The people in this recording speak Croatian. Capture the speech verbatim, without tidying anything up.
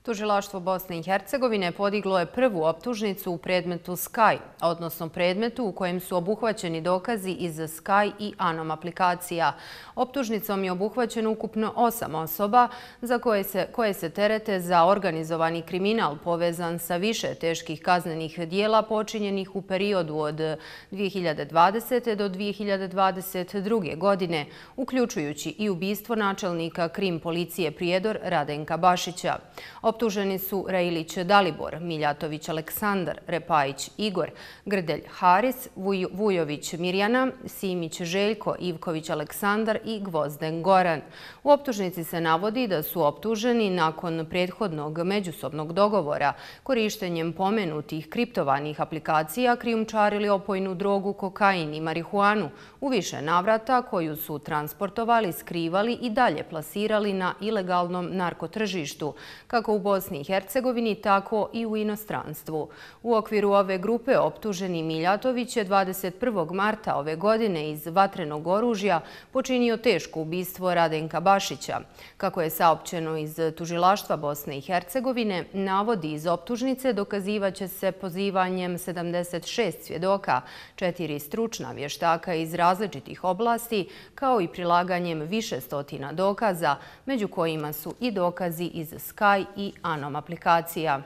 Tužilaštvo Bosne i Hercegovine podiglo je prvu optužnicu u predmetu Sky, odnosno predmetu u kojem su obuhvaćeni dokazi iz Sky i Anom aplikacija. Optužnicom je obuhvaćeno ukupno osam osoba za koje se, koje se terete za organizovani kriminal povezan sa više teških kaznenih dijela počinjenih u periodu od dvije hiljade dvadesete. do dvije hiljade dvadeset druge. godine, uključujući i ubistvo načelnika krim policije Prijedor Radenka Bašića. Optuženi su Reilić Dalibor, Miljatović Aleksandar, Repajić Igor, Grdelj Haris, Vujović Mirjana, Simić Željko, Ivković Aleksandar i Gvozden Goran. U optužnici se navodi da su optuženi nakon prethodnog međusobnog dogovora korištenjem pomenutih kriptovanih aplikacija krijumčarili opojnu drogu, kokain i marihuanu u više navrata koju su transportovali, skrivali i dalje plasirali na ilegalnom narkotržištu, kako u Bosni i Hercegovini, tako i u inostranstvu. U okviru ove grupe optuženi Miljatović je dvadeset prvog marta ove godine iz vatrenog oružja počinio teško ubistvo Radenka Bašića. Kako je saopćeno iz Tužilaštva Bosne i Hercegovine, navodi iz optužnice dokazivaće se pozivanjem sedamdeset šest svjedoka, četiri stručna vještaka iz različitih oblasti, kao i prilaganjem više stotina dokaza, među kojima su i dokazi iz Sky i Anom aplikacija.